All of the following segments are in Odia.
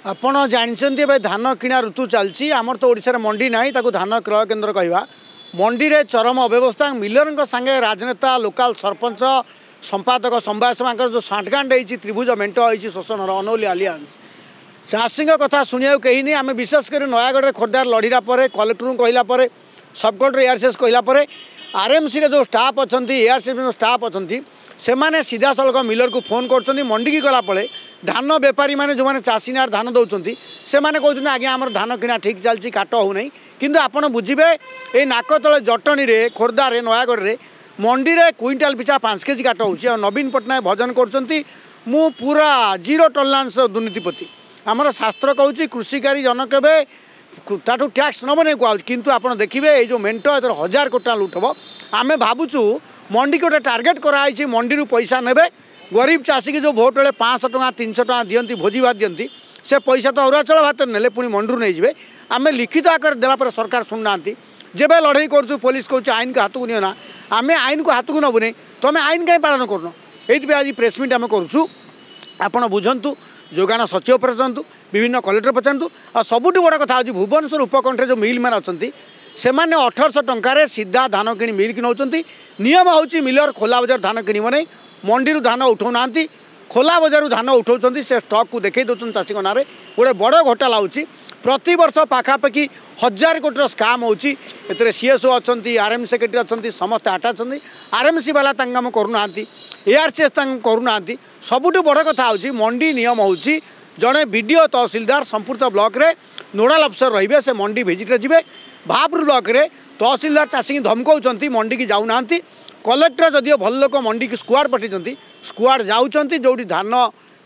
ଆପଣ ଜାଣିଛନ୍ତି ଏବେ ଧାନ କିଣା ଋତୁ ଚାଲିଛି। ଆମର ତ ଓଡ଼ିଶାରେ ମଣ୍ଡି ନାହିଁ, ତାକୁ ଧାନ କ୍ରୟ କେନ୍ଦ୍ର କହିବା। ମଣ୍ଡିରେ ଚରମ ଅବ୍ୟବସ୍ଥା, ମିଲରଙ୍କ ସାଙ୍ଗେ ରାଜନେତା, ଲୋକାଲ ସରପଞ୍ଚ, ସମ୍ପାଦକ, ସମବାୟ ସଭାଙ୍କର ଯେଉଁ ସାଣ୍ଠଗାଣ୍ଠ ହେଇଛି, ତ୍ରିଭୁଜ ମେଣ୍ଟ ହେଇଛି, ଶୋଷଣର ଅନୋଲି ଆଲିଆନ୍ସ। ଚାଷୀଙ୍କ କଥା ଶୁଣିବାକୁ କେହିନି। ଆମେ ବିଶେଷ କରି ନୟାଗଡ଼ରେ, ଖୋର୍ଦ୍ଧାରେ ଲଢ଼ିଲା ପରେ, କଲେକ୍ଟରଙ୍କୁ କହିଲା ପରେ, ସବକଲେକ୍ଟର, ଏଆର୍ସିଏସ୍ କହିଲା ପରେ, ଆର୍ଏମ୍ସିରେ ଯେଉଁ ଷ୍ଟାଫ୍ ଅଛନ୍ତି, ଏଆର୍ସିଏସ୍ ଯେଉଁ ଷ୍ଟାଫ୍ ଅଛନ୍ତି, ସେମାନେ ସିଧାସଳଖ ମିଲରକୁ ଫୋନ୍ କରୁଛନ୍ତି। ମଣ୍ଡିକି ଗଲା ପରେ ଧାନ ବେପାରୀମାନେ, ଯେଉଁମାନେ ଚାଷୀ ନାଁରେ ଧାନ ଦେଉଛନ୍ତି, ସେମାନେ କହୁଛନ୍ତି ଆଜ୍ଞା ଆମର ଧାନ କିଣା ଠିକ୍ ଚାଲିଛି, କାଟ ହେଉନାହିଁ। କିନ୍ତୁ ଆପଣ ବୁଝିବେ, ଏଇ ନାକ ତଳେ ଜଟଣୀରେ, ଖୋର୍ଦ୍ଧାରେ, ନୟାଗଡ଼ରେ ମଣ୍ଡିରେ କୁଇଣ୍ଟାଲ ପିଛା 5 କେଜି କାଟ ହେଉଛି। ଆଉ ନବୀନ ପଟ୍ଟନାୟକ ଭଜନ କରୁଛନ୍ତି ମୁଁ ପୁରା ଜିରୋ ଟଲରାନ୍ସ ଦୁର୍ନୀତି ପ୍ରତି। ଆମର ଶାସ୍ତ୍ର କହୁଛି କୃଷିକାରୀ ଜନ କେବେ ତାଠୁ ଟ୍ୟାକ୍ସ ନେବନି କୁହାହେଉଛି। କିନ୍ତୁ ଆପଣ ଦେଖିବେ ଏଇ ଯେଉଁ ମେଣ୍ଟ, ଏଥର 1000 କୋଟି ଟଙ୍କା ଲୁଟ୍ ହେବ। ଆମେ ଭାବୁଛୁ ମଣ୍ଡିକୁ ଗୋଟେ ଟାର୍ଗେଟ୍ କରାହେଇଛି, ମଣ୍ଡିରୁ ପଇସା ନେବେ। ଗରିବ ଚାଷୀକି ଯେଉଁ ଭୋଟ ବେଳେ 500 ଟଙ୍କା, 300 ଟଙ୍କା ଦିଅନ୍ତି, ଭୋଜି ଭାତ ଦିଅନ୍ତି, ସେ ପଇସା ତ ଅରୁଆ ଚାଉଳ ଭାତରେ ନେଲେ, ପୁଣି ମଣ୍ଡିରୁ ନେଇଯିବେ। ଆମେ ଲିଖିତ ଆକାରରେ ଦେଲା ପରେ ସରକାର ଶୁଣୁନାହାନ୍ତି। ଯେବେ ଲଢ଼େଇ କରୁଛୁ, ପୋଲିସ କହୁଛି ଆଇନକୁ ହାତକୁ ନିଅ ନା। ଆମେ ଆଇନକୁ ହାତକୁ ନେବୁନି, ତୁମେ ଆଇନ କାହିଁ ପାଳନ କରୁନ? ଏଇଥିପାଇଁ ଆଜି ପ୍ରେସମିଟ୍ ଆମେ କରୁଛୁ। ଆପଣ ବୁଝନ୍ତୁ, ଯୋଗାଣ ସଚିବ ପଚାରନ୍ତୁ, ବିଭିନ୍ନ କଲେକ୍ଟର ପଚାରନ୍ତୁ। ଆଉ ସବୁଠୁ ବଡ଼ କଥା ହେଉଛି ଭୁବନେଶ୍ୱର ଉପକଣ୍ଠରେ ଯେଉଁ ମିଲ୍ ମାନେ ଅଛନ୍ତି, ସେମାନେ 1800 ଟଙ୍କାରେ ସିଧା ଧାନ କିଣି ମିଲ୍କି ନେଉଛନ୍ତି। ନିୟମ ହେଉଛି ମିଲର ଖୋଲା ବଜାର ଧାନ କିଣିବ ନାହିଁ। ମଣ୍ଡିରୁ ଧାନ ଉଠାଉନାହାନ୍ତି, ଖୋଲା ବଜାରରୁ ଧାନ ଉଠାଉଛନ୍ତି, ସେ ଷ୍ଟକ୍କୁ ଦେଖାଇ ଦେଉଛନ୍ତି ଚାଷୀଙ୍କ ନାଁରେ। ଗୋଟେ ବଡ଼ ଘୋଟାଲା ହେଉଛି। ପ୍ରତିବର୍ଷ ପାଖାପାଖି 1000 କୋଟିର ସ୍କାମ୍ ହେଉଛି। ଏଥିରେ ସିଏସ୍ଓ ଅଛନ୍ତି, ଆର୍ ଏମ୍ ସେକ୍ରେଟାରୀ ଅଛନ୍ତି, ସମସ୍ତେ ଆଟାଚ୍ ଅଛନ୍ତି। ଆର୍ ଏମ୍ ସି ବାଲା ତାଙ୍କ କାମ କରୁନାହାନ୍ତି, ଏଆର୍ସିଏସ୍ ତାଙ୍କ କରୁନାହାନ୍ତି। ସବୁଠୁ ବଡ଼ କଥା ହେଉଛି ମଣ୍ଡି ନିୟମ ହେଉଛି ଜଣେ ବି ଡ଼ି ଓ, ତହସିଲଦାର ସମ୍ପୃକ୍ତ ବ୍ଲକରେ ନୋଡ଼ାଲ ଅଫିସର ରହିବେ, ସେ ମଣ୍ଡି ଭିଜିଟ୍ରେ ଯିବେ। ଭାପୁର ବ୍ଲକରେ ତହସିଲଦାର ଚାଷୀଙ୍କୁ ଧମକାଉଛନ୍ତି, ମଣ୍ଡିକି ଯାଉନାହାନ୍ତି। କଲେକ୍ଟର ଯଦିଓ ଭଲ ଲୋକ, ମଣ୍ଡିକି ସ୍କ୍ୱାଡ଼ ପଠାଇଛନ୍ତି, ସ୍କ୍ୱାଡ଼ ଯାଉଛନ୍ତି। ଯେଉଁଠି ଧାନ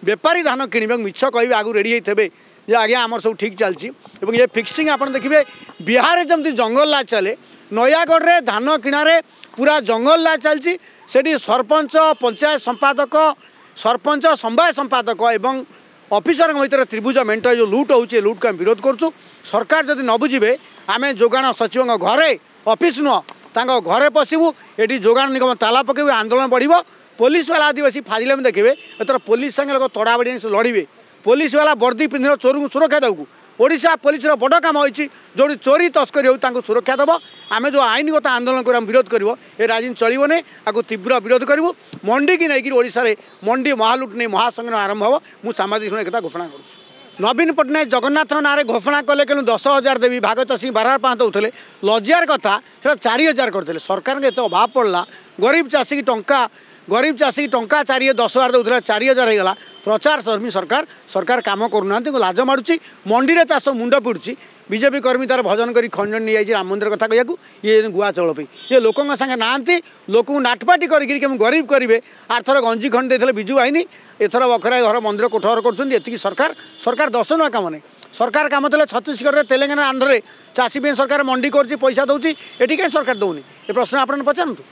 ବେପାରୀ ଧାନ କିଣିବେ, ମିଛ କହିବେ, ଆଗରୁ ରେଡ଼ି ହେଇଥିବେ ଯେ ଆଜ୍ଞା ଆମର ସବୁ ଠିକ୍ ଚାଲିଛି। ଏବଂ ଏ ଫିକ୍ସିଂ ଆପଣ ଦେଖିବେ, ବିହାରରେ ଯେମିତି ଜଙ୍ଗଲ ରାଜ ଚାଲେ, ନୟାଗଡ଼ରେ ଧାନ କିଣାରେ ପୁରା ଜଙ୍ଗଲ ରାଜ ଚାଲିଛି। ସେଠି ସରପଞ୍ଚ, ପଞ୍ଚାୟତ ସମ୍ପାଦକ, ସରପଞ୍ଚ, ସମବାୟ ସମ୍ପାଦକ ଏବଂ ଅଫିସରଙ୍କ ଭିତରେ ତ୍ରିଭୁଜ ମେଣ୍ଟ ଯେଉଁ ଲୁଟ୍ ହେଉଛି, ଏ ଲୁଟ୍କୁ ଆମେ ବିରୋଧ କରୁଛୁ। ସରକାର ଯଦି ନ ବୁଝିବେ, ଆମେ ଯୋଗାଣ ସଚିବଙ୍କ ଘରେ, ଅଫିସ୍ ନୁହଁ, ତାଙ୍କ ଘରେ ପଶିବୁ, ଏଠି ଯୋଗାଣ ନିଗମ ତାଲା ପକାଇବୁ, ଆନ୍ଦୋଳନ ବଢ଼ିବ। ପୋଲିସ ବାଲା ଆଦିବାସୀ ଫାଜିଲେ ଦେଖିବେ, ଏଥର ପୋଲିସ ସାଙ୍ଗେ ଲୋକ ତଡ଼ାବାଡ଼ି ଲଢ଼ିବେ। ପୋଲିସ ବାଲା ବର୍ଦ୍ଦି ପିନ୍ଧିବ ଚୋରକୁ ସୁରକ୍ଷା ଦେବାକୁ? ଓଡ଼ିଶା ପୋଲିସର ବଡ଼ କାମ ହୋଇଛି ଯେଉଁଠି ଚୋରି ତସ୍କରୀ ହେଉଛି ତାଙ୍କୁ ସୁରକ୍ଷା ଦେବ। ଆମେ ଯେଉଁ ଆଇନଗତ ଆନ୍ଦୋଳନ କରି ଆମେ ବିରୋଧ କରିବ, ଏ ରାଜନୀତି ଚଳିବନି, ଆକୁ ତୀବ୍ର ବିରୋଧ କରିବୁ। ମଣ୍ଡିକି ନେଇକରି ଓଡ଼ିଶାରେ ମଣ୍ଡି ମହାଲୁଟ ନେଇ ମହାସଂଗ୍ରାମ ଆରମ୍ଭ ହେବ। ମୁଁ ସାମ୍ବାଦିକ ଏକଥା ଘୋଷଣା କରୁଛି। ନବୀନ ପଟ୍ଟନାୟକ ଜଗନ୍ନାଥଙ୍କ ନାଁରେ ଘୋଷଣା କଲେ କିନ୍ତୁ 10,000 ଦେବି, ଭାଗ ଚାଷୀ 12,500 ଦେଉଥିଲେ। ଲଜ୍ଜାର କଥା, ସେଟା 4,000 କରିଥିଲେ। ସରକାରଙ୍କ ଏତେ ଅଭାବ ପଡ଼ିଲା, ଗରିବ ଚାଷୀକି ଟଙ୍କା, ଗରିବ ଚାଷୀ ଟଙ୍କା 4, 10,000 ଦେଉଥିଲା, 4,000 ହେଇଗଲା। ପ୍ରଚାର କର୍ମୀ ସରକାର, ସରକାର କାମ କରୁନାହାନ୍ତି, ଲାଜ ମାଡ଼ୁଛି। ମଣ୍ଡିରେ ଚାଷ ମୁଣ୍ଡ ପିଡ଼ୁଛି। ବିଜେପି କର୍ମୀ ତାର ଭଜନ କରି ଖଞ୍ଜଣି ନେଇଯାଇଛି ରାମ ମନ୍ଦିର କଥା କହିବାକୁ, ଇଏ ଗୁଆ ଚାଉଳ ପାଇଁ। ଇଏ ଲୋକଙ୍କ ସାଙ୍ଗେ ନାହାନ୍ତି, ଲୋକଙ୍କୁ ନାଟପାଟି କରିକିରି କେମିତି ଗରିବ କରିବେ। ଆରଥର ଗଞ୍ଜି ଖଣ୍ଡି ଦେଇଥିଲେ ବିଜୁ ବାହିନୀ, ଏଥର ବଖରାଏ ଘର, ମନ୍ଦିର, କୋଠ ଘର କରୁଛନ୍ତି। ଏତିକି ସରକାର, ସରକାର 10 ନୂଆ କାମ ନାହିଁ। ସରକାର କାମ ଥିଲେ ଛତିଶଗଡ଼ରେ, ତେଲେଙ୍ଗାନା, ଆନ୍ଧ୍ରରେ ଚାଷୀ ପାଇଁ ସରକାର ମଣ୍ଡି କରୁଛି, ପଇସା ଦେଉଛି, ଏଠି କାହିଁ ସରକାର ଦେଉନି? ଏ ପ୍ରଶ୍ନ ଆପଣ ପଚାରନ୍ତୁ।